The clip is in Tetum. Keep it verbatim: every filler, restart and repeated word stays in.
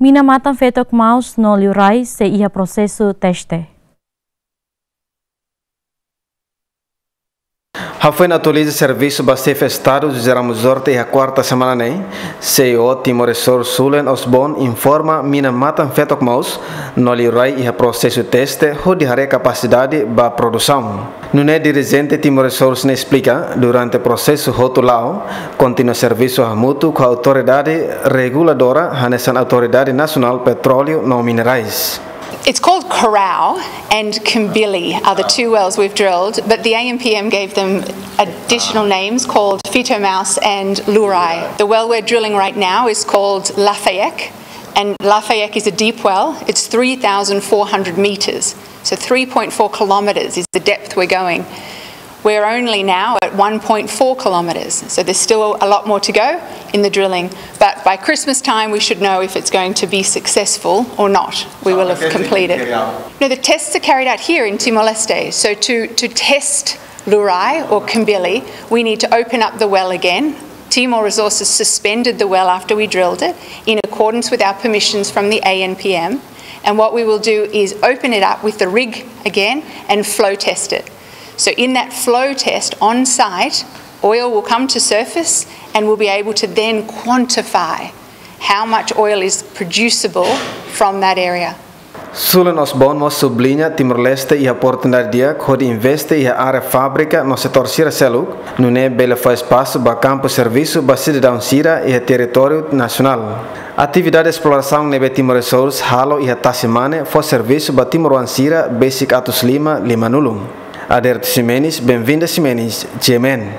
Mina matan fetok maus no liurai sei iha prosesu teste. Hafoin atualiza servisu ba Xefe Estadu José Ramos Horta iha kuarta semana ne'e, C E O Timor Resource Sulen Osborn informa mina matan fetok maus no liurai iha prosesu teste hodi haree kapasidade ba produsaun. Nune'e dirijente Timor Resource ne'e esplika, durante prosesu hotu la'o, kontinua servisu hamutuk ho autoridade reguladora hanesan Autoridade Nasionál Petróleu no Minerais. It's called Corral and Kimbili are the two wells we've drilled, but the A N P M gave them additional names called Feto Maus and Lurai. The well we're drilling right now is called Lafayek, and Lafayek is a deep well. It's three thousand four hundred meters, so three point four kilometers is the depth we're going. We're only now at one point four kilometers, so there's still a lot more to go in the drilling. But by Christmas time, we should know if it's going to be successful or not. We will have completed. No, the tests are carried out here in Timor-Leste. So to, to test Lurai or Kimbili, we need to open up the well again. Timor Resources suspended the well after we drilled it in accordance with our permissions from the A N P M. And what we will do is open it up with the rig again and flow test it. So in that flow test on site, oil will come to surface and we'll be able to then quantify how much oil is producible from that area. Sulen Osborn mós subliña Timor-Leste iha oportunidade di'ak hodi investe iha área fábrika no setór sira seluk, nune'e bele fó espasu ba kampu servisu ba sidadaun sira iha territóriu nasionál. Atividade esplorasaun ne'ebé Timor Resource halo iha Tasi Mane fó servisu ba timoroan sira besik atus lima limanulu. Aderto Ximenes, Benvinda Ximenes, G M N.